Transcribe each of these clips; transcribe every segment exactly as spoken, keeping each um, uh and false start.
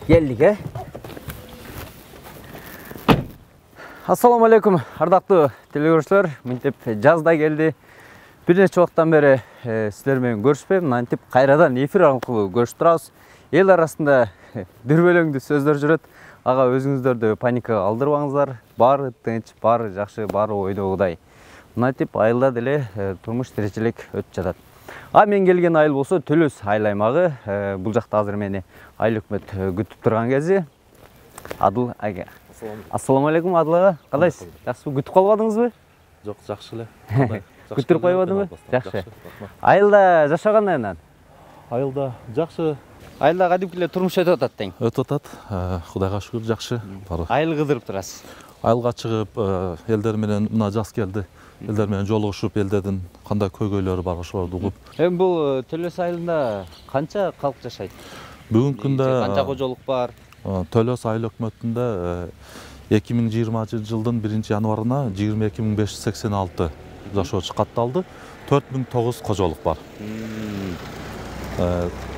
Geldik, he? Assalamu алейкум, ардактуу телекөрүүчүлөр. Мынтип жазда келди. Бир нече убакыттан бери силер менен көрүшпөйм. Мынтип кайрадан эфир аркылуу көрүшүп турабыз. Эл арасында бир бөлөңдүү сөздөр жүрөт. Ага өзүңүздөрдү паникага алдырбаңыздар. Баары тынч, баары жакшы, баары ойдогудай. Мынтип айылда деле турмуш тиричилик өтүп жатат. А мен келген айыл болсо Төлөс айыл аймагы. Бул жакта азыр мени айыл өкмөт күтүп турган кези. Адыл ага. Ассаламу алейкум Адыл ага. Кандайсыз? Жакшыбы? Күтүп калбадыңызбы? Жок, жакшы эле. Күтүрүп койбодуңбу? Жакшы. Айылда жашаган кандай? Айылда жакшы. Айылда кадимки эле турмуш өтүп атат тең. Өтүп атат. Кудайга шүгүр, жакшы. Айыл кыдырып турасыз. Айылга чыгып, элдер менен мына жаз келди. Элдер менен жолугушуп, элдердин кандай көйгөйлөрү бар ошолорду угуп. Эми бул Төлөс айылында канча калк жашайт? Бүгүнкү күндө канча кожолук бар? Төлөс айыл өкмөтүндө эки миң жыйырманчы жылдын биринчи январына жыйырма эки миң беш жүз сексен алты жашоочу катталды. төрт миң тогуз кожолук бар.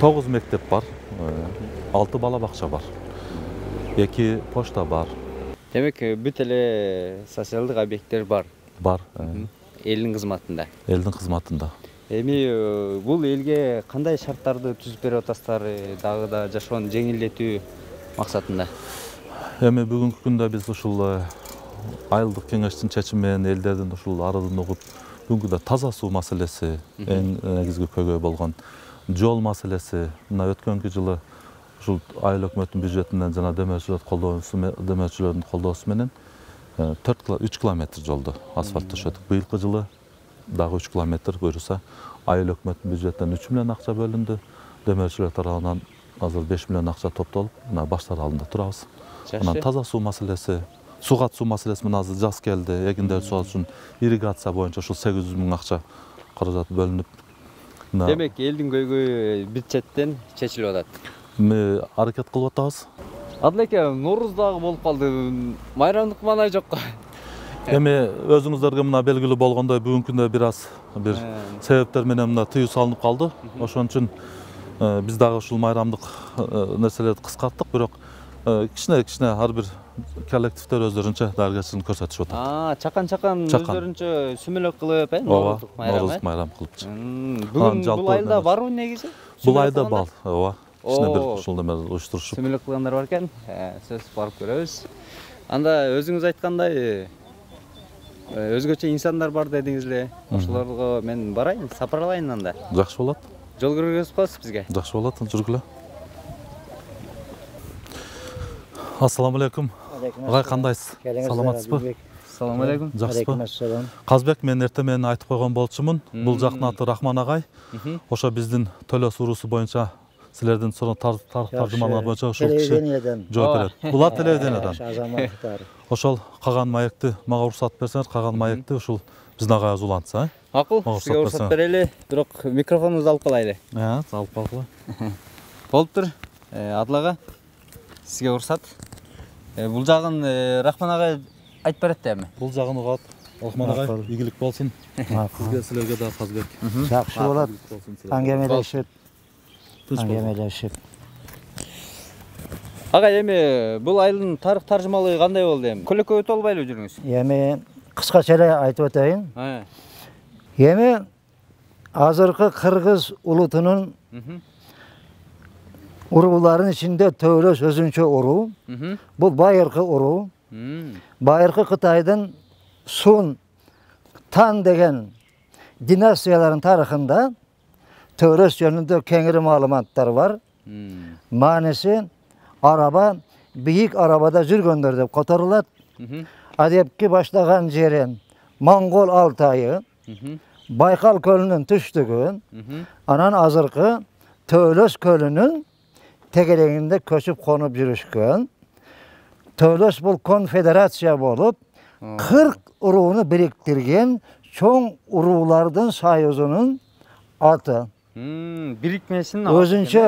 тогуз мектеп бар. алты бала бакча бар. эки почта бар. Демек, бүт эле социалдык объекттер бар. Бар. Элдин кызматында. Элдин кызматында. Эми бул элге кандай шарттарды түзүп берип атасыздар, дагы да жашоону жеңилдетүү максатында? Эми бүгүнкү күндө биз ушул айылдык кеңештин чечими менен элдердин ушул арызын угуп, бүгүнкү күндө таза суу маселеси эң негизги көйгөй болгон, жол маселеси, мына өткөнкү жылы ушул айыл өкмөтүнүн бюджетинен жана демөөрчүлөр колдоосу демөөрчүлөрдүн колдоосу менен үч километр жолду асфальт төшөдүк. Быйылкы жылы дагы үч километр буюрса, айыл өкмөтүнүн бюджетинен үч миллион акча бөлүндү. Демөөрчүлөр тарабынан азыр беш миллион акча топтолуп, мына баштар алдында турабыз. Анан таза суу маселеси, сугат суу маселеси менен азыр жаз келди. Эгиндер суу үчүн ирригация боюнча ушул сегиз жүз миң акча каражат бөлүнүп. Демек, элдин көйгөйү бюджеттен чечилип атат. Эми аракет кылып атабыз. Адыл эке, Нооруз дагы болуп калды. Майрамдык маанай жокко. Эми өзүңүздөргө мына белгилүү болгондой бүгүнкү күндө бир аз бир себептер менен мына тыюу салынып калды. Ошон үчүн биз дагы ушул майрамдык нерселерди кыскарттык, бирок кичине-кичине ар бир коллективдер өздөрүнчө дарыгерчилик көрсөтүшүп атат. А, чакан-чакан өздөрүнчө сүмөлөк кылып, э, Нооруздук майрам кылыпчы. Бүгүн бул айылда барбы негизи? Бул айылда бар, ооба. Кичине бир ушул неме уюштурушуп. Сүмөлөк кылгандар бар экен. Сөз барып көрөбүз. Анда өзүңүз айткандай, өзгөчө инсандар бар дедиңиз эле. Ошолорго мен барайын, сапарлайын анда. Жакшы болот. Жол көргөзүп коесуз бизге. Жакшы болот, жүргүлө. Ассаламу алейкум. Агай, кандайсыз? Саламатсызбы? Ассаламу алейкум. Жакшысызбы? Казбек, мен эртең менен айтып койгон болчумун. Бул жактын аты Рахман агай. Ошо биздин Төлөс уруусу боюнча силердин сонун таржымалар боюнча ушул киши жооп берет. Булар телевиденияден. Азаматтар. Ошол каган маекти мага уруксат берсеңиз, каган маекти ушул биздин агайга улантса, э? Акыл, сизге уруксат берели, бирок микрофонуңузду алып калайлы. Э, алып калгыла. Болуптур. Адыл ага, сизге уруксат. Бул жагын Рахман агай айтып берет да эми. Бул жагын угат. Рахман агай, ийгилик болсун. Сизге, силерге да Казбек. Жакшы болот. Аңгемелешип. Аңгемелешип. Агай, эми бул айылдын тарых таржымалыгы кандай болду эми? Көлөккө өтө албайлы жүрүңүз? Эми кыскача эле айтып өтөйүн. Эми азыркы кыргыз улутунун урууларынын ичинде Төлөс өзүнчө уруу. Бул байыркы уруу. Байыркы Кытайдын Сун, Тан деген династиялардын тарыхында Төлөс жөнүндө кеңири маалыматтар бар. Мааниси араба, бийик арабада жүргөндөр деп которулат. Адепки баштаган жери Моңгол Алтайы, Байкал көлүнүн түштүгү, анан азыркы Төлөс көлүнүн тегерегинде көчүп конуп жүрүшкөн. Төлөс бул конфедерация болуп, кырк урууну бириктирген чоң уруулардын союзунун аты. Бирикмесинин өзүнчө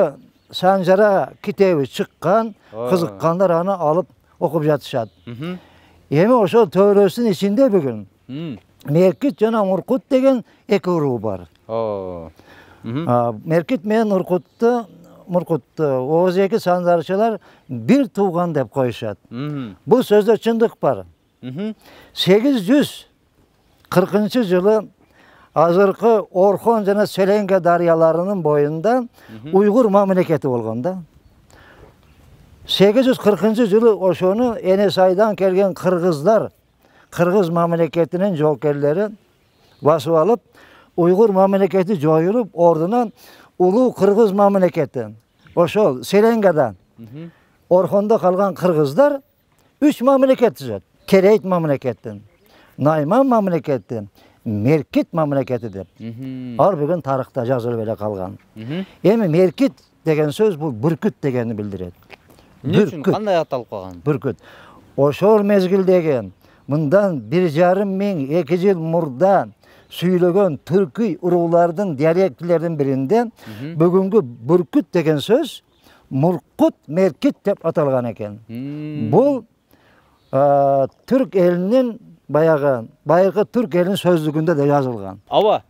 Санжара китеби чыккан, кызыккандар аны алып окуп жатышат. Эми ошол төрөсүнүн ичинде бүгүн Меркит жана Муркут деген эки уруу бар. Меркит менен Муркутты Муркутты Оозеки санжарчылар бир тууган деп коюшат. Бул сөздө чындык бар. сегиз жүз кыркынчы жылы азыркы Орхон жана Селенге дарыяларынын боюнда уйгур мамлекети болгон да. сегиз жүз кыркынчы жылы ошону Энесайдан келген кыргыздар, кыргыз мамлекетинин жоокерлери басып алып, уйгур мамлекети жоюлуп, ордуна улуу кыргыз мамлекети. Ошол Селенгеда, Орхондо калган кыргыздар үч мамлекет түзөт. Керейт мамлекети, Найман мамлекети, Меркит мамлекети деп. Ал бүгүн тарыхта жазылып эле калган. Эми Меркит деген сөз бул бүркүт дегенди билдирет. Эмне үчүн кандай аталып калган? Бүркүт. Ошол мезгилдеги мындан бир жарым миң эки жыл мурда сүйлөгөн түркүй уруулардын диалектилеринин биринде бүгүнгү бүркүт деген сөз Муркут, Меркит деп аталган экен. Бул түрк элинин баягы байыркы түрк элинин сөздүгүндө да жазылган. Аба,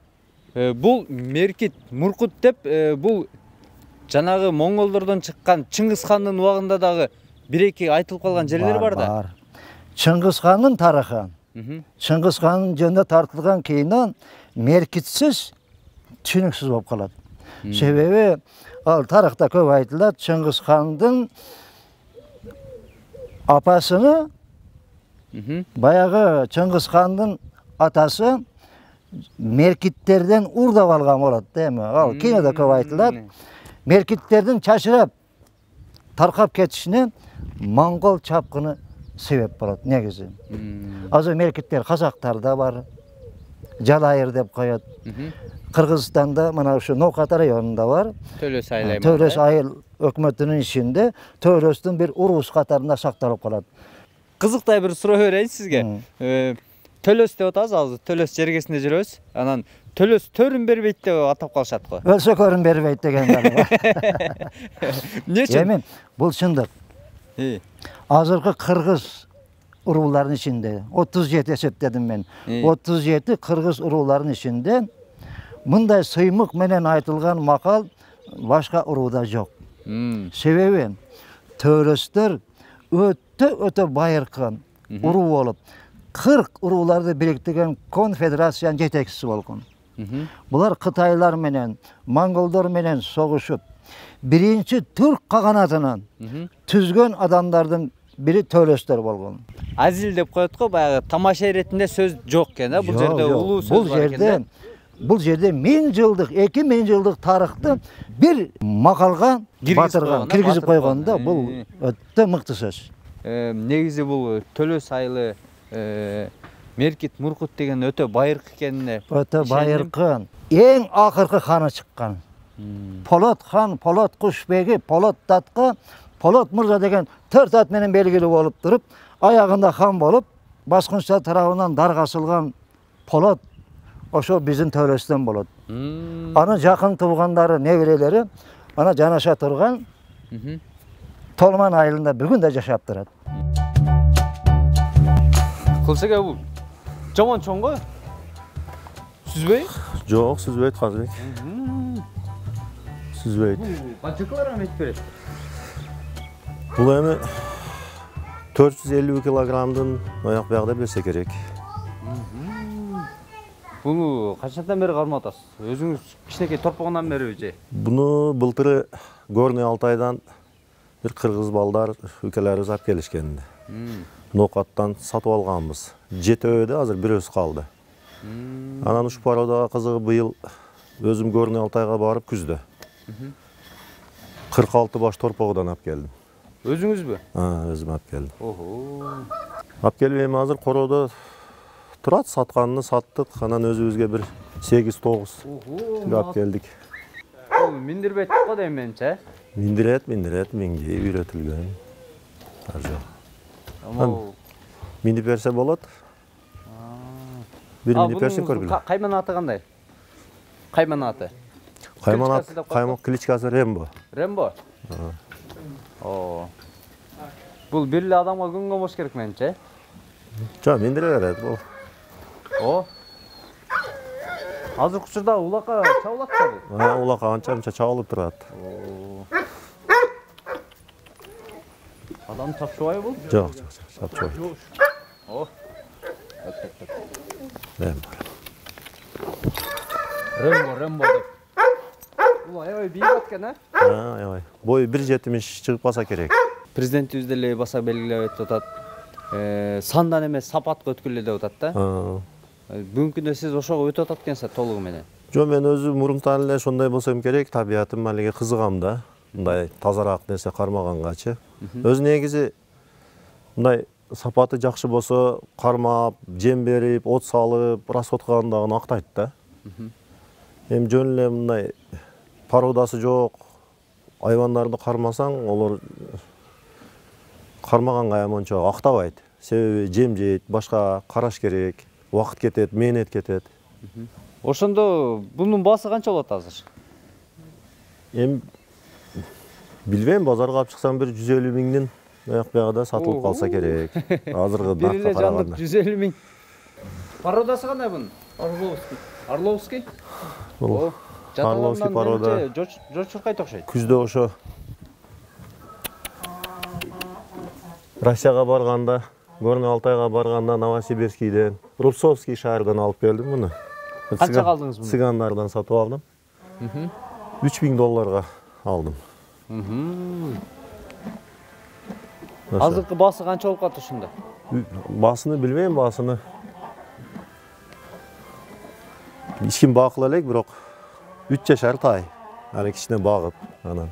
бул Меркит, Муркут деп бул жанагы монголдордон чыккан Чыңгыз хандын убагында дагы бир-эки айтылып калган жерлер бар да. Бар. Чыңгыз хандын тарыхы. Чыңгыз хандын жөнүндө тартылган кино Меркитсиз түшүнүксүз болуп калат. Себеби ал тарыхта көп айтылат, Чыңгыз хандын апасыны баягы Чыңгыз хандын атасы Меркиттерден урдап алган болот да эми. Ал кинода көп айтылат. Меркиттердин чачырап таркап кетишине монгол чапкыны себеп болот негизи. Азыр Меркиттер казактар да бар. Жалайыр деп коет. Кыргызстанда мына ушу Ноокат районунда бар. Төлөс айыл аймагы. Төлөс айыл өкмөтүнүн ичинде Төлөстүн бир уруус катарында сакталып калат. Кызыктай бир суроо берейин сизге. Төлөс деп атабыз, азыр Төлөс жергесинде жүрөбүз. Анан Төлөс төрүн бербейт деп атап калышат го. Өлсө көрүн бербейт деген бар. Эмне үчүн? Эми бул чындык. Азыркы кыргыз урууларынын ичинде отуз жети эсептедим мен. отуз жети кыргыз урууларынын ичинде мындай сыймык менен айтылган макал башка урууда жок. Себеби Төлөстөр өтө өтө байыркы уруу болуп, кырк урууларды бириктирген конфедерациянын жетекчиси болгон. Булар Кытайлар менен, монголдор менен согушуп, биринчи түрк каганатынын түзгөн адамдардын бири Төлөстөр болгон. Азил деп коет го, баягы тамаша иретинде сөз жок экен да, бул жерде улуу сөз бар экен да. Бул жерде миң жылдык, эки миң жылдык тарыхты бир макалга батырган, киргизип койгон да, бул өтө мыкты сөз. Негизи бул Төлөс айылы Меркит, Муркут деген өтө байыркы экенине. Өтө байыркы. Эң акыркы ханы чыккан. Полот хан, Полот Кушбеги, Полот Татка, Полот Мырза деген төрт ат менен белгилүү болуп туруп, аягында хан болуп, баскынчылар тарабынан даргасылган Полот ошо биздин Төлөстөн болот. Анын жакын туугандары, неберелери ана жанаша турган Толман айылында бүгүн да жашап турат. Кылсак бул жаман чоң го? Сүзбөй? Жок, сүзбөйт Казбек. Сүзбөйт. Канча килограмм эт берет? Бул эми төрт жүз элүү килограммдын аяк биягында берсе керек. Буну качандан бери кармап атасыз? Өзүңүз кичинекей торпогунан бериби же? Буну былтыры Горный Алтайдан бир кыргыз балдар үкелерибиз алып келишкен. Ноокаттан сатып алганбыз. Жетөөдө азыр бирөөсү калды. Анан ушул породага кызыгы быйыл өзүм Горный Алтайга барып күздө кырк алты баш торпогудан алып келдим. Өзүңүзбү? А, өзүм алып келдим. Ого. Алып келип эми азыр короодо турат, сатканын саттык. Анан өзүбүзгө бир сегиз тогуз алып келдик. Бул миндирбейт го дейм менче. Миндирет, миндирет, минги үйрөтүлгөн. Ар жок. Амал минип берсе болот. Бир минип берсе көргүлө. Кайман аты кандай? Кайман аты. Кайманат, Кличкасы деп коет. каймак кличкасы Рембо. Рембо. О. Бул бир эле адамга күнгө болуш керек менимче. Жок, мендире берет бул. О. Азыркы учурда улакка чабылат да. А, улакка анча мынча чабылып турат. Адам чапчубайбы бул? Жок, жок, жок, чапчыбайт. О. Рембо. Рембо, Рембо деп. Бул аябай бийик экен, а? А, аябай. Бою бир жетимиш чыгып калса керек. Президентибиз деле баса белгилеп атат. Э, сандан эмес сапатка өткүлө деп атат да. Бүгүнкү күндө сиз ошого өтүп атат экенсиз толугу менен. Жо, мен өзү мурунтан эле ошондой болсом керек, табиятым алиге кызыгам да. Мындай тазараак нерсе кармагангачы. Өзү негизи мындай сапаты жакшы болсо, кармап, жем берип, от салып, расходкагандагын актайт да. Эми жөн эле мындай породасы жок айвандарды кармасаң, олар кармаганга эми ончо актабайт. Себеби жем жейт, башка караш керек, убакыт кетет, мээнет кетет. Ошондо бунун баасы канча болот азыр? Эми билбейм, базарга алып чыксам бир жүз элүү миңдин аяк бягада сатылып калса керек. Азыркы Бир эле наркка жандык караганда. жүз элүү миң. Породасы кандай бунун? Орловский. Орловский? Бул Орловский порода. Жочуркайт окшойт. Күздө ошо Россияга барганда, Горный Алтайга барганда Новосибирскийден, Рубцовский шаардан алып келдим муну. Канча калдыңыз муну? Цыгандардан сатып алдым. үч миң долларга алдым. Азыркы баасы канча болуп калат ушунда? Баасыны билбейм, баасыны. Эч ким бакыла элек, бирок үч жашар тай. Аны кичине багып, анан.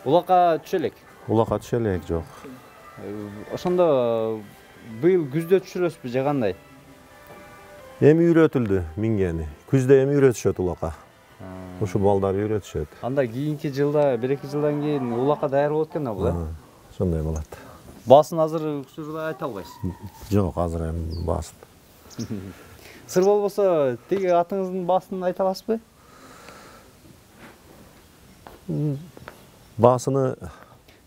Улакка түшө элек. Улакка түшө элек, жок. Ошондо быйыл күздө түшүрөсүзбү же кандай? Эми үйрөтүлдү мингени. Күздө эми үйрөтүшөт улакка. Ушу балдар үйрөтүшөт. Анда кийинки жылда, бир эки жылдан кийин улакка даяр болот экен бул, э? Ошондой болот. Баасын азыр учурда айта албайсыз. Жок, азыр эми баасын. Сыр болбосо, тиги атыңыздын баасын айта аласызбы? Баасыны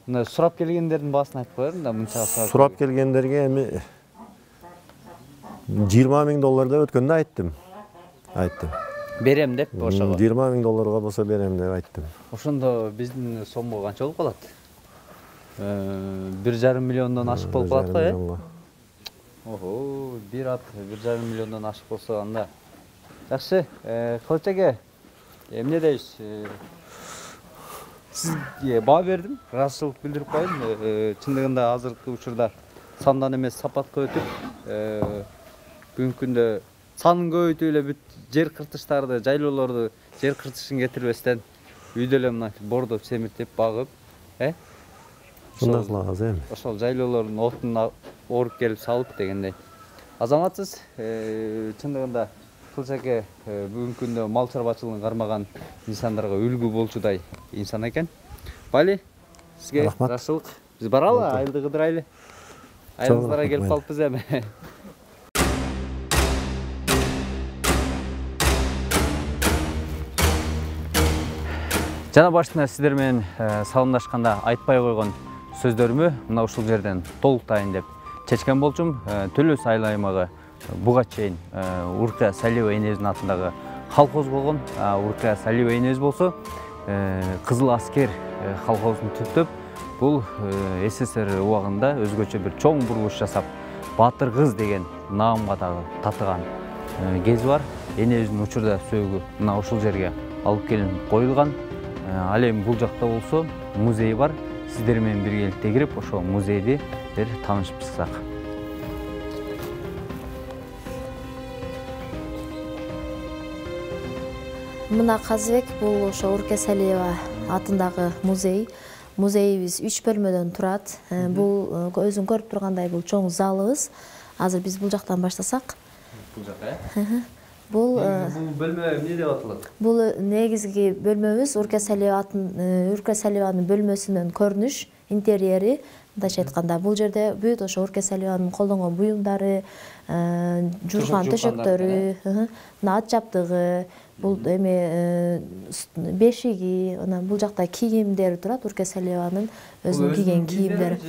Мына сурап келгендердин баасын айтып коермун да, мынча сурап келгендерге эми жыйырма миң доллар деп өткөндө айттым. Айттым. Берем деп ошого. жыйырма миң долларга болсо берем деп айттым. Ошондо биздин сомго канча болуп калат? бир жарым миллиондон ашык болуп калат го, э? Ого, бир ат бир жарым миллиондон ашык болсо анда. Жакшы, Кылыч эге, эмне дейсиз? Сизге баа бердим, ыраазычылык билдирип коеюн. Чындыгында азыркы учурда сандан эмес сапатка өтүп, бүгүнкү күндө санын көбөйтүп эле бүт жер кыртыштарды, жайлоолорду жер кыртышын кетирбестен үйдө эле мына бордоп, семиртип, багып, э? Ушундай кылабыз эми. Ошол жайлоолордун отун оруп келип салып дегендей. Азаматсыз, чындыгында Кылыч эке бүгүнкү күндө мал чарбачылыгын кармаган инсандарга үлгү болчудай инсан экен. Бали, сизге рахмат. Биз баралы, айылды кыдырайлы. Айылыңыздарга келип калыппыз эми. Жана башында сиздер менен салымдашканда айтпай койгон сөздөрүмү мына ушул жерден толуктайын деп чечкен болчумун. Төлөс айыл аймагы буга чейин Урка Салиева энебиздин атындагы колхоз болгон. Урка Салиева энебиз болсо Кызыл Аскер колхозун түптөп, бул СССР убагында өзгөчө бир чоң бурулуш жасап, Батыр кыз деген наамга дагы татыган кези бар. Энебиздин учурда сөөгү мына ушул жерге алып келинип коюлган. Ал эми бул жакта болсо музей бар. Сиздер менен биргеликте кирип, ошол музейди бир таанышып чыксак. Мына Казыбек бул ошо Урка Салиева атындагы музей. Музейибиз үч бөлмөдөн турат. Бул өзүң көрүп тургандай бул чоң залыбыз. Азыр биз бул жактан баштасак. Бул жакка, э? Бул бөлмө эмне деп аталат? Бул негизги бөлмөбүз Урка Салиева Урка Салиеванын бөлмөсүнөн көрүнүш, интерьери. Мындайча айтканда, бул жерде бүт ошо Урка Салиеванын колдонгон буюмдары, жуурган төшөктөрү, ат жаптыгы, Бул эме бешиги, анан бул жакта кийимдери турат, Урке Салиеванын өзүнүн кийген кийимдери.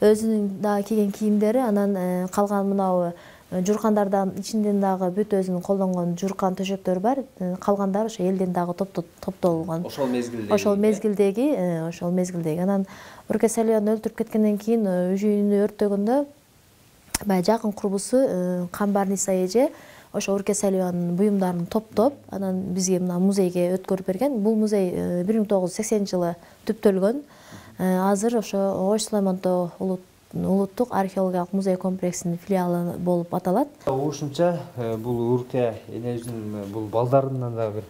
Өзүнүн дагы кийген кийимдери, анан калган мынау журкандардан ичинден дагы бүт өзүнүн колдонгон журкан төшөктөрү бар. Калгандары ошо элден дагы топтолгон. Ошол мезгилдеги. Ошол мезгилдеги, ошол мезгилдеги. Анан Урке Салиеваны өлтүрүп кеткенден кийин үйүнү өрттөгөндө баягы жакын курбусу Камбарниса эже ошо Урке Салиеванын буюмдарын топтоп, анан бизге мына музейге өткөрүп берген. Бул музей бир миң тогуз жүз сексенинчи жылы түптөлгөн. Азыр ошо Ош Сулаймонтоо улуттук археологиялык музей комплексинин филиалы болуп аталат. Ушунча бул Урке энебиздин бул балдарынын да бир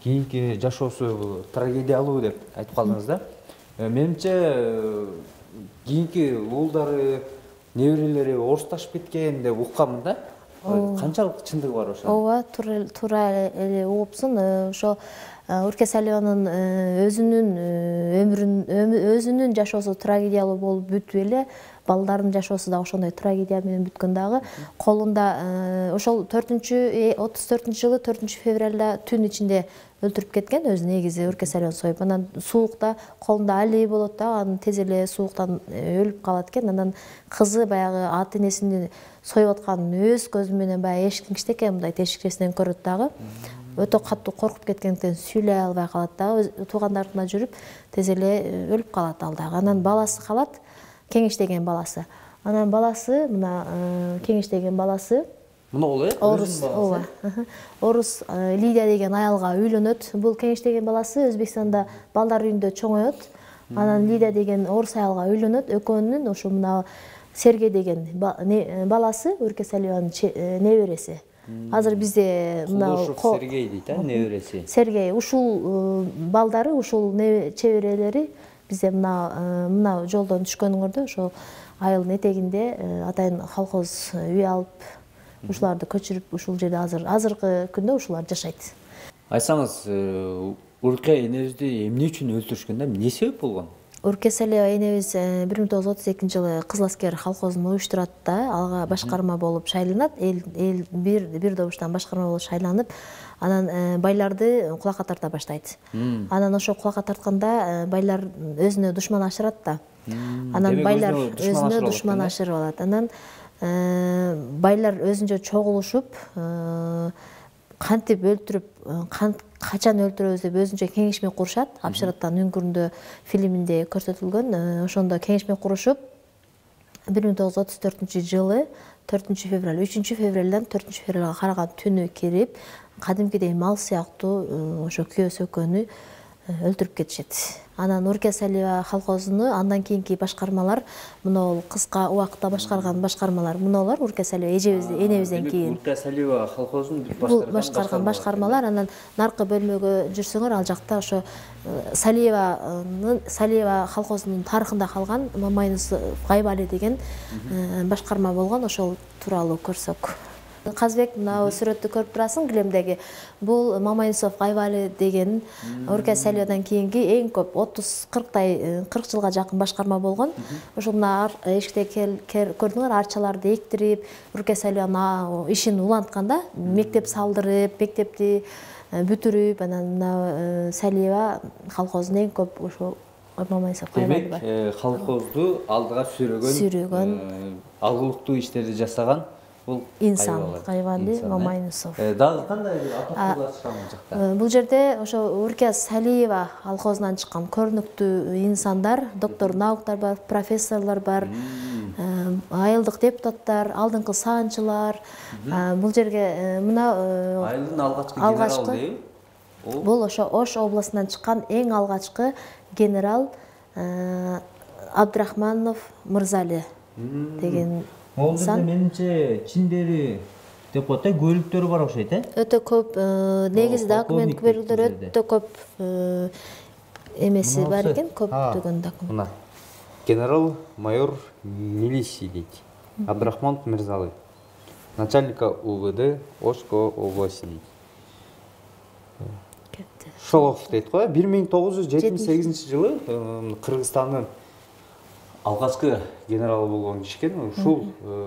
кийинки жашоосу бул трагедиялуу деп айтып калдыңыз да. Менимче кийинки уулдары, неберелери орусташып кеткен деп укканмын да. Канчалык чындыгы бар ошо? Ооба, туура эле угупсуң. Ошо Урке Салиеванын өзүнүн өмүрүн, өзүнүн жашоосу трагедиялуу болуп бүтүп эле, балдарынын жашоосу да ошондой трагедия менен бүткөн дагы. Колунда ошол төртүнчү отуз төртүнчү жылы төртүнчү февралда түн ичинде өлтүрүп кеткен, өзү негизи Урке Салиеван союп. Анан суукта колунда алий болот да, анан тез эле сууктан өлүп калат экен. Анан кызы баягы ата энесini союп атканын өз көзү менен баягы эшиктин кичтекей мындай тешикчесинен көрөт дагы. Өтө катуу коркуп кеткендиктен сүйлөй албай калат дагы, туугандарына жүрүп тез эле өлүп калат ал дагы. Анан баласы калат, Кеңеш деген баласы. Анан баласы, мына Кеңеш деген баласы Мына э? Орус, ооба. Орус Лидия деген аялга үйлөнөт. Бул Кеңеш деген баласы Өзбекстанда балдар үйүндө чоңоет. Анан Лидия деген орус аялга үйлөнөт. Экөөнүн ошо мына Сергей деген баласы Урке Салиеванын небереси. Азыр бизде мына Сергей дейт, а, небереси. Сергей ушул балдары, ушул чеберелери бизде мына мына жолдон түшкөнүңөрдө ошо айылдын этегинде атайын колхоз үй алып, ушуларды көчүрүп ушул жерде азыр азыркы күндө ушулар жашайт. Айтсаңыз, Урке энебизди эмне үчүн өлтүрүшкөн да? Эмне себеп болгон? Урке Салиева энебиз бир миң тогуз жүз отуз экинчи жылы Кызыл аскер колхозун уюштурат да, ага башкарма болуп шайланат. Эл эл бир бир добуштан башкарма болуп шайланып, анан байларды кулакка тарта баштайт. Анан ошо кулакка тартканда байлар өзүнө душман ашырат да. Анан байлар өзүнө душман ашырып алат. Анан байлар өзүнчө чогулушуп, кантип өлтүрүп, качан өлтүрөбүз деп өзүнчө кеңешме курушат. Апшыраттан үңкүрүндө фильминде көрсөтүлгөн. Ошондо кеңешме курушуп, бир миң тогуз жүз отуз төртүнчү жылы төртүнчү февраль, үчүнчү февралдан төртүнчү февралга караган түнү кирип, кадимкидей мал сыяктуу ошо күйөөсү экөөнү өлтүрүп кетишет. Анан Урке Салиева колхозуну андан кийинки башкармалар, мына кыска убакытта башкарган башкармалар, мыналар Урке Салиева эжебиз, энебизден кийин. Урке Салиева колхозун башкарган башкармалар. Анан наркы бөлмөгө жүрсөңөр, ал жакта ошо Салиеванын Салиева колхозунун тарыхында калган Мамайнусов Гайбали деген башкарма болгон, ошол тууралуу көрсөк. Казбек, мына сүрөттү көрүп турасың килемдеги. Бул Мамайнусов Гайбали деген Урке Салиевадан кийинки эң көп отуз кырктай кырк жылга жакын башкарма болгон. Ошо мына эшикте көрдүңөр, арчаларды эктирип, Урке Салиеванын ишин улантканда мектеп салдырып, мектепти бүтүрүп, анан мына Салиева колхозун эң көп ошо Мамайнусов Гайбали бар. Демек, колхозду алдыга сүрөгөн, алгылыктуу иштерди жасаган бул инсан Гайбали Мамайнусов. Дагы кандай бир атактуулар чыккан бул жакта? Бул жерде ошо Урке Салиева колхозунан чыккан көрүнүктүү инсандар, доктор науктар бар, профессорлор бар, айылдык депутаттар, алдыңкы саанчылар. Бул жерге мына айылдын алгачкы генералы дейби? Бул ошо Ош областынан чыккан эң алгачкы генерал Абдрахманов Мырзали деген инсан. Менимче чиндери деп коет да, көлүктөрү бар окшойт, э? Өтө көп негизи документ берүүлөр өтө көп эмеси бар экен, көптөгөн документ. Мына генерал майор милиции дейт. Абдрахманов Мырзали, начальника УВД Ошко области дейт. Шолов дейт го, бир миң тогуз жүз жетимиш сегизинчи жылы Кыргызстандын алгачкы генералы болгон киши экен. Ушул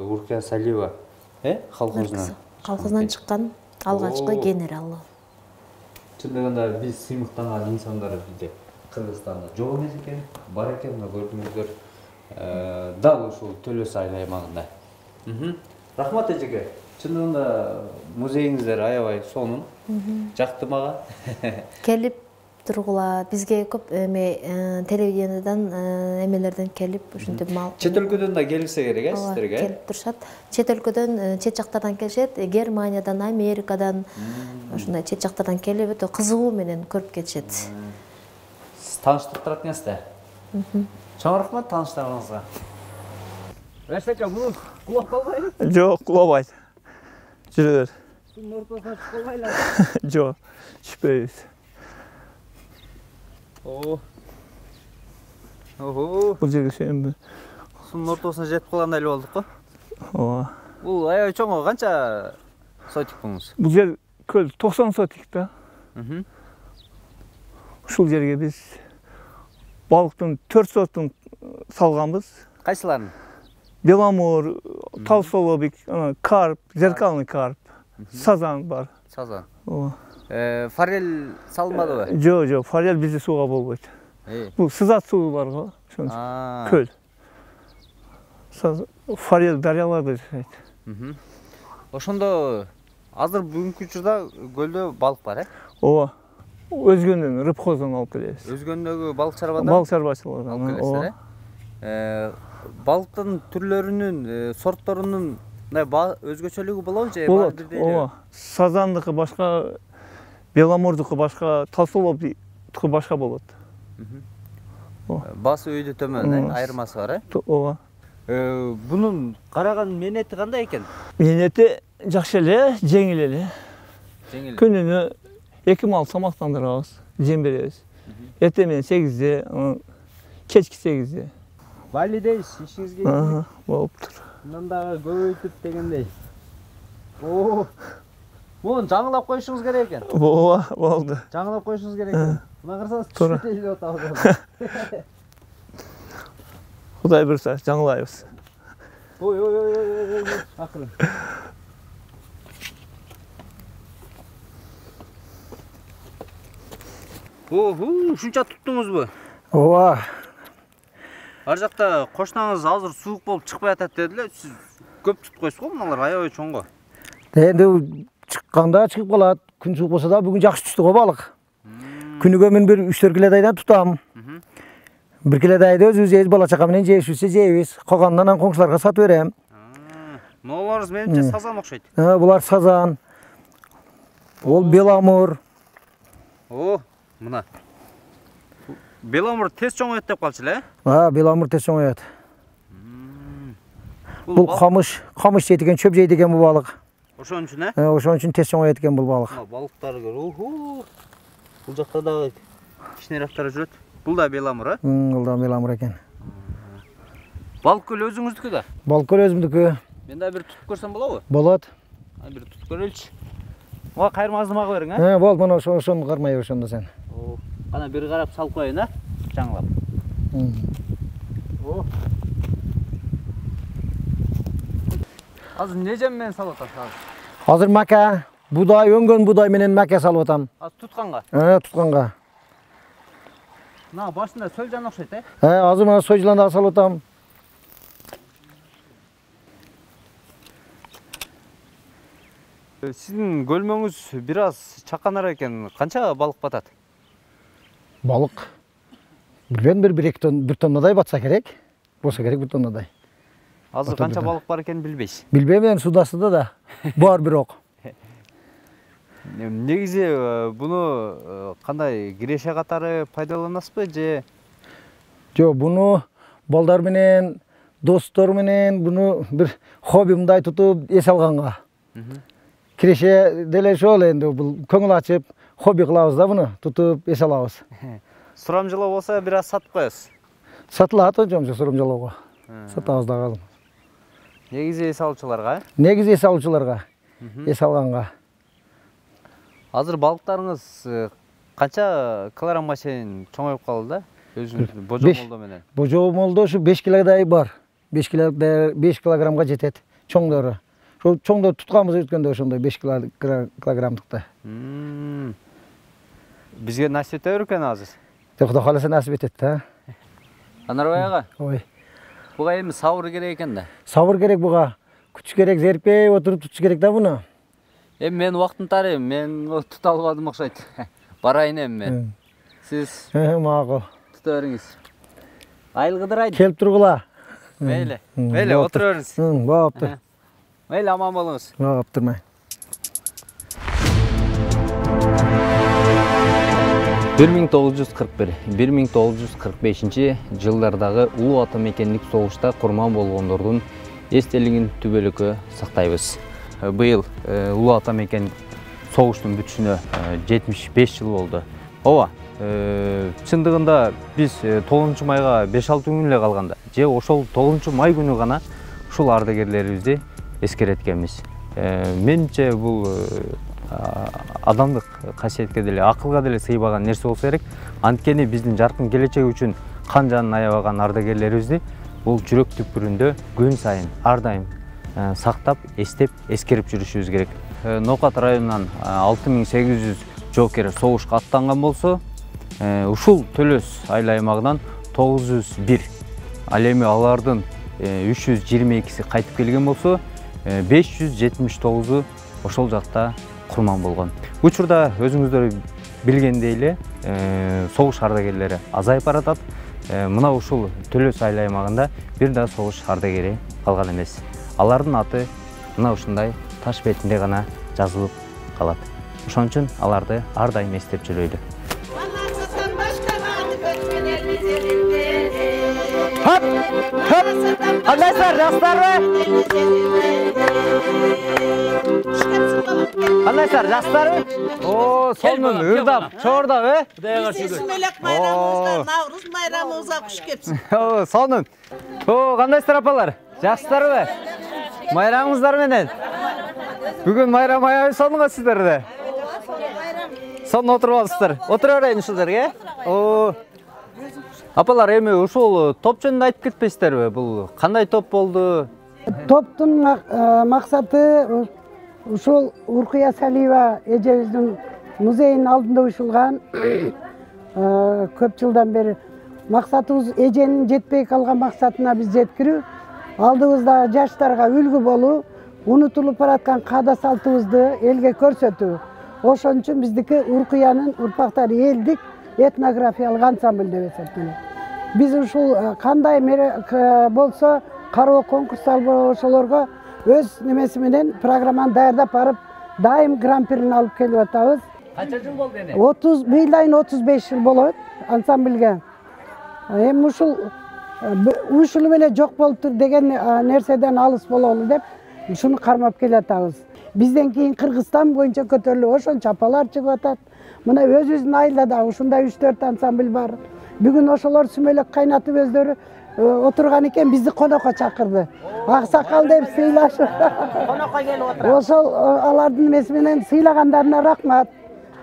Урке Салиева, э, колхозунан колхозунан чыккан алгачкы генералы. чындыгында биз сыймыктанган инсандар бизде Кыргызстанда жок эмес экен, бар экен, мына көрдүңүздөр. Дал ушул Төлөс айыл аймагында. Рахмат эжеке. Чындыгында музейиңиздер аябай сонун. Жакты мага. Келип тургула бизге көп эме телевидениедан эмелерден келип ушинтип мал. Чет өлкөдөн да келсе керек, э, сиздерге? Келип турушат. Чет өлкөдөн, чет жактардан келишет, Германиядан, Америкадан, ушундай чет жактардан келип өтө кызыгуу менен көрүп кетишет. Сиз тааныштырып турат экенсиз да. Чоң рахмат тааныштыгыңызга. Эсеке, бул кулап калбайбы? Жок, кулабайт. Жүрө бер. Сунун ортосуна чыгып калбайлы. Жок, түшпөйбүз. О. Ого. Бул жерге сенби? Сунун ортосуна жетип калгандай эле болдук го. Ооба. Бул аябай чоң, канча сотик буңуз? Бул жер көл токсон сотик да. Мм. Ушул жерге биз балыктын төрт сортун салганбыз. Кайсыларын? Беломор, толстолобик, карп, зеркальный карп, сазан бар. Сазан. Ооба. Э, форель салынбадыбы? Жок, жок, форель бизде сууга болбойт. Бул сызат суу бар го, ошон көл. Форель дарыяларда жашайт. Ошондо азыр бүгүнкү учурда көлдө балык бар, э? Ооба. Өзгөндөн рыбхоздон алып келебиз. Өзгөндөгү балык чарбадан? Балык чарбачылыгынан алып келесиздер, э? Балыктын түрлөрүнүн, сортторунун өзгөчөлүгү болобу же баары бирдей эле? Ооба. Сазандыкы башка, беломордуку башка, толстолобдуку башка болот. Баасы өйдө төмөн, э? Айырмасы бар, э? Ооба. Бунун караган менети кандай экен? Менети жакшы эле, жеңил эле. Жеңил. Күнүнө эки мал тамактандырабыз, жем беребиз. Эртең менен сегизде, кечки сегизде. Байли дейсиз, ишиңизге. Ага, болуптур. Мындан дагы көбөйтүп дегендей. Оо. Муну жаңылап коюшуңуз керек экен. Ооба, болду. Жаңылап коюшуңуз керек экен. Мына карасаңыз түшүп эле атабыз. Кудай буйруса, жаңылайбыз. Ой, ой, ой, ой, ой, акырын. Оху, ушунча туттуңузбу? Ооба. Ар жакта кошунаңыз азыр суук болуп чыкпай атат деди эле. Сиз көп тутуп койсуз го, мыналар аябай чоң го. Энди чыкканда чыгып калат. Күн суук болсо да бүгүн жакшы түштү го балык. Күнүгө мен бир үч төрт килодайдан тутам. Бир килодайды өзүбүз жейбиз, бала чака менен жешүүсү жейбиз. Калганынан анан коңшуларга сатып берем. Мыналарыңыз менимче сазан окшойт. Булар сазан. Ол беломор. О, мына. Беломор тез чоңоет деп калчу эле? А, беломор тез чоңоет. Бул камыш, камыш жейт экен, чөп жейт экен бул балык. Ошон үчүн, э? Ошон үчүн тез чоңоет экен бул балык. Балыктар көр. Уху. Бул жакта дагы кичинерактары жүрөт. Бул да беломор, э? Бул да беломор экен. Балык көл өзүңүздүкү да? Балык көл өзүмдүкү. Мен да бир тутуп көрсөм болобу? Болот. Бир тутуп көрөлүчү. Мага кайырмаңызды мага бериң, э? Болот, мына ошону кармай бер ошондо сен. Кана бир карап салып коеюн, э? Жаңылап. О. Азыр не жем менен салып атасыз? Азыр мака, будай, өңгөн будай менен мака салып атам. Азыр тутканга? Э, тутканга. Мына башында сөлжан окшойт, э? Э, азыр мына сөлжан дагы салып атам. Сиздин көлмөңүз бир аз чаканар экен. Канча балык батат? Балык билбейм, бир эки тонна, бир тоннадай батса керек. Болсо керек бир тоннадай. Азыр канча балык бар экенин билбейсиз? Билбейм, эми суда суда да. Бар бирок. Негизи буну кандай киреше катары пайдаланасызбы же? Жок, буну балдар менен, достор менен буну бир хоббимдай тутуп эс алганга. Киреше деле ошол энди бул көңүл ачып, хобби кылабыз да буну, тутуп эс алабыз. Сурамжылоо болсо бир аз сатып коесуз. Сатылат жомжо сурамжылоого. Сатабыз дагы. Негизи эс алуучуларга, э? Негизи эс алуучуларга, эс алганга. Азыр балыктарыңыз канча килограммга чейин чоңоюп калды да? Өзүңүздүн божо молдо менен. Божо молдо ушу беш килодай бар. беш килограммга жетет чоңдору. Ошол чоңдорду тутканбыз өткөндө ошондой беш килограммдыкты. бизге насип ете беркен азыр. Құда қаласа насип етет да. Анарбай ага, Ой. буга эми сабыр керек экен да. Сабыр керек буга. Күч керек, зерпей отуруп tutуш керек да буну. Эми мен убактын тарайм, мен тута албадым окшойт. Барайын эми мен. Сиз Макул. тута бериңиз. Айылгыдырайт. Келип тургула. Мейли. Мейли, отура бериңиз. Болуптур. Мейли, аман болуңуз. Болуптурмай. бир миң тогуз жүз кырк бир — бир миң тогуз жүз кырк бешинчи жылдардагы улуу ата мекендик согушта курман болгондордун эстелигин түбөлүккө сактайбыз. Быйыл улуу ата мекен согуштун бүтүшүнө жетимиш беш жыл болду. Ооба, чындыгында биз тогузунчу майга беш алты күн эле калганда, же ошол тогузунчу май күнү гана ушул ардагерлерибизди эскереткенбиз. Менимче бул адамдык касиетке деле, акылга деле сыйбаган нерсе болсо керек. Анткени биздин жаркын келечек үчүн кан жанын аябаган ардагерлерибизди бул жүрөк түпкүрүндө күн сайын ар дайым сактап, эстеп, эскерип жүрүшүбүз керек. Ноокат районунан алты миң сегиз жүз жоокер согушка аттанган болсо, ушул Төлөс айыл аймагынан тогуз жүз бир, ал эми алардын үч жүз жыйырма экиси кайтып келген болсо, беш жүз жетимиш тогузу ошол жакта курман болгон. Учурда өзүңүздөр билгендей эле согуш ардагерлери азайып баратат. Мына ушул Төлөс айыл аймагында бир да согуш ардагери калган эмес. Алардын аты мына ушундай таш бетинде гана жазылып калат. Ошон үчүн аларды ар дайым эстеп жүрөлү. Хоп! Хоп! Кандайсыздар, жакшысыздарбы? Кандайсыздар, жакшысыздарбы? О, сонун, ырдап, чордап, э? Кудайга шүгүр. Сизмелек майрамыңызга, Навруз майрамыңызга куш кепсин. О, сонун. О, кандайсыздар апалар? Жакшысыздарбы? Майрамыңыздар менен. Бүгүн майрам аябай сонун сиздерде. Сонун отуруп алыпсыздар. Отура берейин ушул жерге. О. Апалар, эми ушул топ жөнүндө айтып кетпейсиздерби? Бул кандай топ болду? Топтун максаты ушул Уркуя Салиева эжебиздин музейинин алдында уюшулган. Көп жылдан бери максатыбыз эженин жетпей калган максатына биз жеткирүү, алдыбызда жаштарга үлгү болуу, унутулуп бараткан каада салтыбызды элге көрсөтүү. Ошон үчүн биздики Уркуянын урпактары элдик этнографиялык ансамбль деп эсептелет. Биз ушул кандай болсо кароо конкурстар ошолорго өз немеси менен программаны даярдап барып, дайым гран-прини алып келип атабыз. Канча жыл болду эне? отуз быйыл айын отуз беш жыл болот ансамбльге. Эми ушул уюшулуп эле жок болуптур деген нерседен алыс бололу деп ушуну кармап келатабыз. Бизден кийин Кыргызстан боюнча көтөрүлүп ошончо апалар чыгып атат. Мына өзүбүздүн айылда да ушундай үч төрт ансамбль бар. Бүгүн ошолор сүмөлөк кайнатып өздөрү отурган экен, бизди конокко чакырды. Аксакал деп сыйлашып. Конокко келип отурат. Ошол алардын эмеси менен сыйлагандарына рахмат.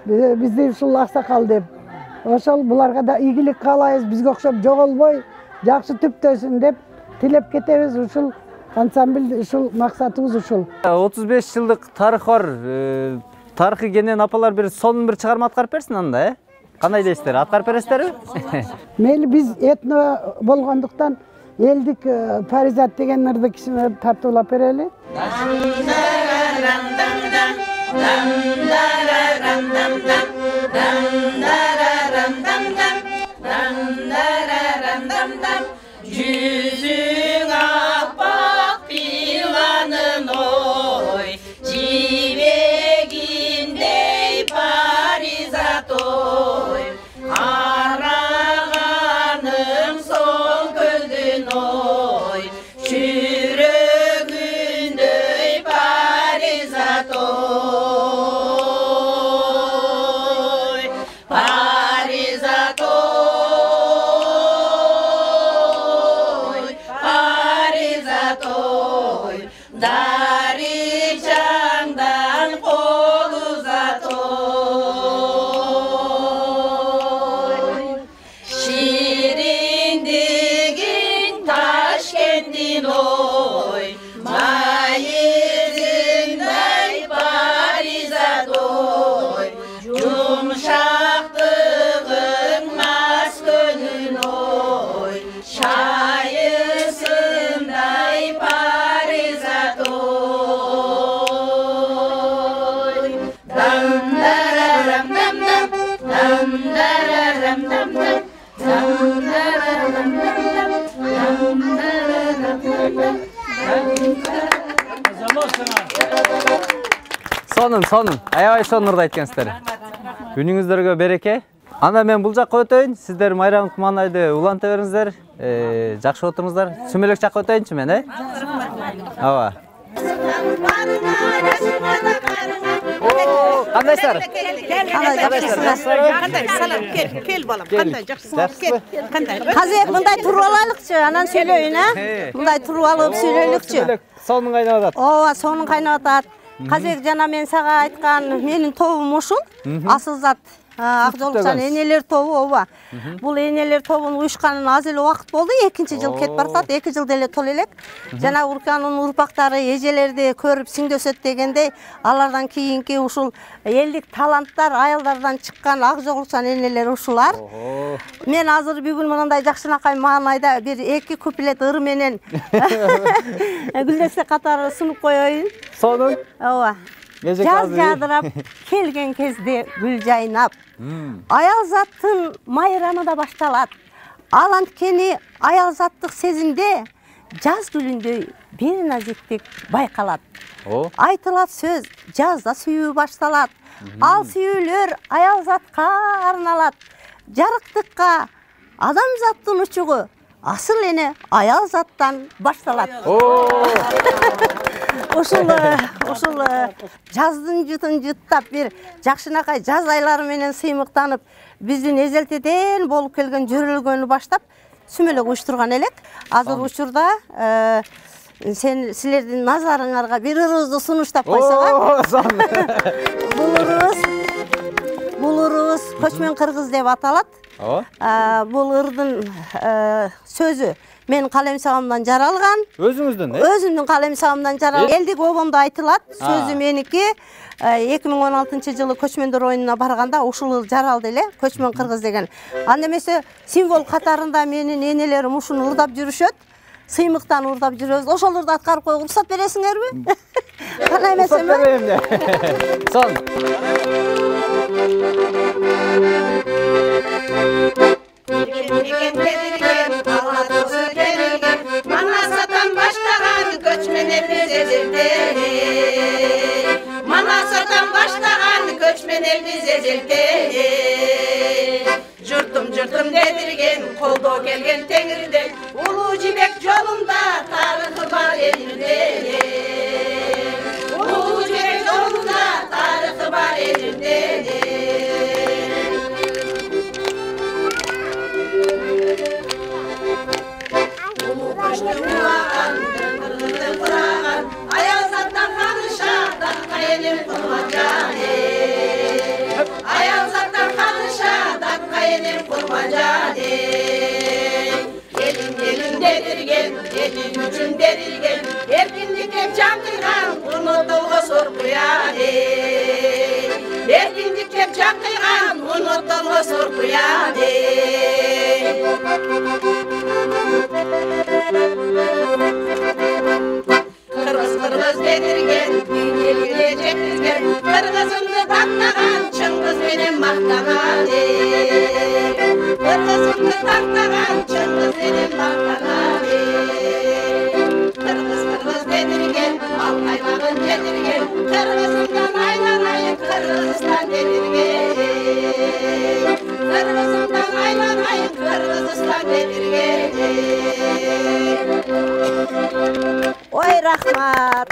Бизди ушул аксакал деп. Ошол буларга да ийгилик каалайбыз, бизге окшоп жоголбой, жакшы түптөсүн деп тилеп кетебиз. Ушул ансамбль, ушул максатыбыз ушул. отуз беш жылдык тарыхы бар. Тарыхы кенен апалар бир сонун бир чыгарма аткарып берсин анда, э? Кандай дейсиздер? Аткарып бересиздерби? Мейли, биз этно болгондуктан элдик паризат деген ырды кичине тартуулап берели. Жүзүң аппак пиланын ой, жибегиндей паризат ой, караганың соң көздүн ой, жүрөгүндөй паризат ой, паризат ой. сонун, сонун. Аябай сонурду айткансыздар. Күнүңүздөргө береке. Анда мен бул жакка өтөйүн. Сиздер Майрам Куманайды уланта бериңиздер. Э, жакшы отуруңуздар. Сүмөлөк жакка өтөйүнчү мен, э? Ооба. Кандайсыздар? Кандай салам, кел, кел балам. Кандай жакшысың? Кел. Кандай? Казак мындай туруп алайлыкчы, анан сүйлөйүн, а? Мындай туруп алып сүйлөйлүкчү. Сонун кайнап атат. Ооба, сонун кайнап атат. Казак жана мен сага айткан менин тобум ушул. Асыл зат ак жолукчан энелер тобу, ооба. Бул энелер тобунун уюшканына аз эле убакыт болду. экинчи жыл кетип баратат. эки жыл деле толо элек. Жана Урканын урпактары эжелерди көрүп сиңдөсөт дегендей, алардан кийинки ушул элдик таланттар, аялдардан чыккан ак жолукчан энелер ушулар. Мен азыр бүгүн мындай жакшынакай маанайда бир эки куплет ыр менен Гүлдестек катары сунуп коеюн. Сонун. Ооба. Жаз жадырап келген кезде гүл жайнап, аял заттын майрамы да башталат. Ал анткени аял заттык сезимде жаз гүлүндөй бир назиктик байкалат. Айтылат сөз, жазда сүйүү башталат. Ал сүйүүлөр аял затка арналат. Жарыктыкка адамзаттын учугу асыл эне аял заттан башталат. Ушул ушул жаздын жутун жуттап бир жакшынакай жаз айлары менен сыймыктанып, биздин эзелтеден болуп келген жөрөлгөнү баштап сүмөлөк уюштурган элек. Азыр учурда сен силердин назарыңарга бир ырыбызды сунуштап койсок. Бул ырыбыз бул ырыбыз көчмөн кыргыз деп аталат. Бул ырдын сөзү мен калем сабамдан жаралган. Өзүңүздүн, э? Өзүмдүн калем сабамдан жаралган. Элдик обомдо айтылат. Сөзү меники. эки миң он алтынчы жылы көчмөндөр оюнуна барганда ушул жаралды эле, көчмөн кыргыз деген. Анда эмесе символ катарында менин энелерим ушуну ырдап жүрүшөт. Сыймыктан ырдап жүрөбүз. Ошолорду аткарып коюп уруксат бересиңерби? Кана эмесеби? Берем де. Сон. Манасатан баштаган көчмөн элбиз эзелде. Манасатан баштаган көчмөн элбиз эзелде. Журтум журтум дедирген, колдоо келген теңирден, улуу жибек жолунда тарыхы бар элирде. Улуу жибек жолунда тарыхы бар элирде. Аял заттан каныша, датка энем курманжаны. Аял заттан каныша, датка энем курманжаны. Элин элин дедирген, элин үчүн берилген, эркиндикке жан кыйган, унутулгус уркуяны. Эркиндикке жан кыйган, унутулгус уркуяны. Кыргыз кыргыз дедирген, элге жеткизген, кыргызымды тактаган, чыңгыз менен мактаган. Кыргызымды тактаган, чыңгыз менен мактаган. Кыргыз кыргыз дедирген, ал каймагын жетирген, кыргызымдан айланайын, Кыргызстан дедирген. Кыргызымдан айланайын, Кыргызстан дедирген. Ой, рахмат.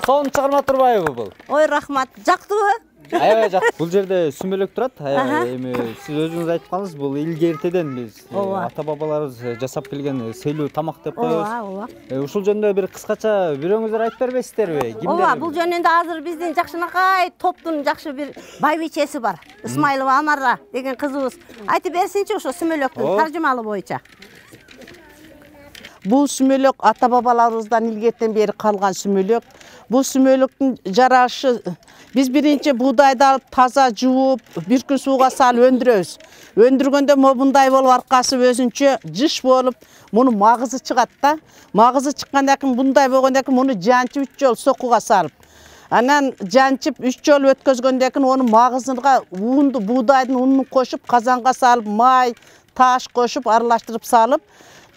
Сон чыгарма турбайбы бул? Ой, рахмат. Жактыбы? Аябай жакты. Бул жерде сүмөлөк турат. Эми сиз өзүңүз айтып калдыңыз, бул илге эртеден биз ата бабаларыбыз жасап келген сыйлуу тамак деп коебуз. Ооба, ооба. Ушул жөнүндө бир кыскача бирөөңүздөр айтып бербейсиздерби? Ооба, бул жөнүндө азыр биздин жакшынакай топтун жакшы бир байбичеси бар. Исмайлова Амара деген кызыбыз. Айтып берсинчи ошо сүмөлөктүн таржымалы боюнча. Бул сүмөлөк ата бабаларыбыздан илгертен бери калган сүмөлөк. Бул сүмөлөктүн жарашы биз биринчи буудайды алып таза жууп, бир күн сууга салып өндүрөбүз. Өндүргөндө мындай болуп аркасы өзүнчө жыш болуп, муну магызы чыгат да. Магызы чыккандан кийин мындай болгондон кийин муну жанчып үч жолу сокуга салып, анан жанчып үч жолу өткөзгөндөн кийин onu магызына уунду, буудайдын унун кошуп, казанга салып, май, таш кошуп, аралаштырып салып,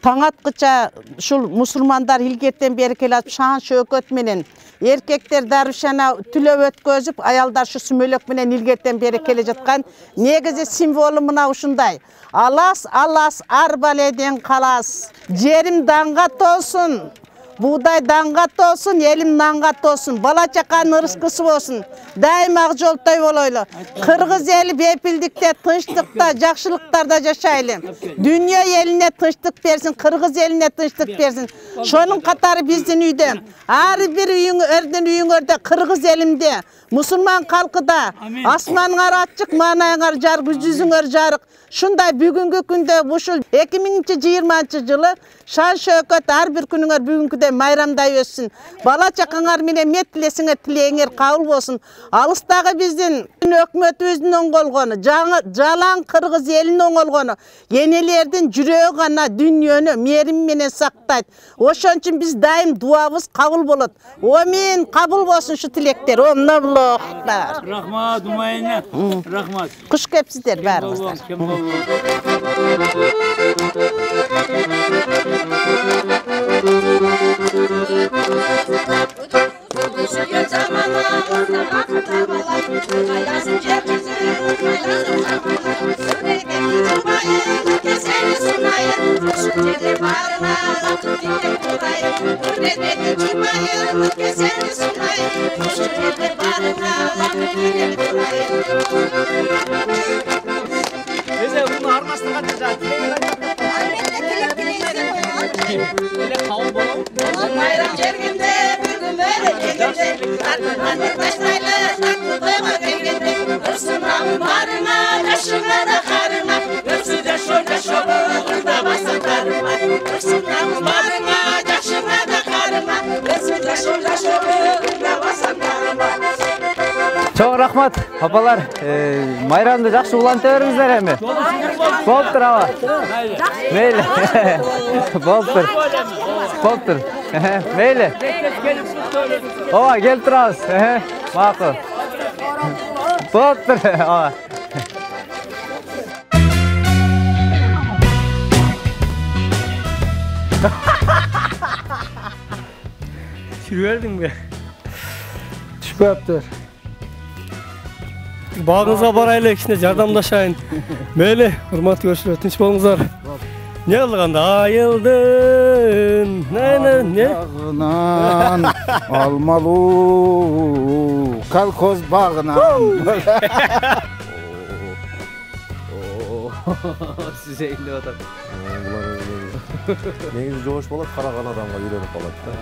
таң аткыча ушул мусулмандар илгертен бери келатып шаан шөкөт менен эркектер дарбишана түлөп өткөзүп, аялдар ушу сүмөлөк менен илгертен бери келе жаткан негизи символу мына ушундай. Алас алас арбаледен калас, жерим даңга толсун, бугдай даңга толсун, элим нанга толсун, бала чаканын ырыскысы болсун, дайым ак жолтой болойлу. Кыргыз эли бепилдикте, тынчтыкта, жакшылыктарда жашайлы. Дүйнө элине тынчтык берсин, кыргыз элине тынчтык берсин. Шонун катары биздин үйдө, ар бир үйүңөрдүн үйүңөрдө, кыргыз элимде, мусулман калкыда асманыңар ачык, маанайыңар жарык, жүзүңөр жарык. Шундай бүгүнкү күндө ушул эки миң жыйырманчы жылы шан шөкөт ар бир күнүңөр бүгүнкүдөй майрамдай өссүн. Бала чакаңар менен мет тилесиңер тилегиңер кабыл болсун. Алыстагы биздин өкмөтүбүздүн оңголгону, жалаң кыргыз элинин оңголгону, энелердин жүрөгү гана дүйнөнү мээрим менен сактайт. Ошон үчүн биз дайым дуабыз кабыл болот. Амин, кабыл болсун ушу тилектер. Омноллохтар. Рахмат, Умайна. Рахмат. Куш кепсиздер баарыңыздар. Bize bunu armasına katacağız. Öyle kavun bolum. Bayram jerginde bugün böyle gelinde. Anne taşlayla saklı doyma gelinde. Hırsınam barına, taşına da karına. Hırsı da şöyle şöyle da basaklarıma. Hırsınam barına, taşına da karına. Hırsı da şöyle şöyle da basaklarıma. Çok rahmat apalar. E, Mayramda жақсы уланта беріңіздер эми. Болуп тур аба. Мейли. Болуп тур. Болуп тур. Мейли. Ооба, келип турабыз. Макул. Болуп тур. Ооба. Sürüverdin mi? Түшпөптүр. Багыңызга барайлы, кичине жардамдашайын. Мейли, урматтуу көрүүчүлөр, тынч болуңуздар. Не кылганда айылдын, не? Багынан алмалуу колхоз багынан. Сиз эйлеп атат. Негизи жоош болот, караган адамга үйрөнүп калат да.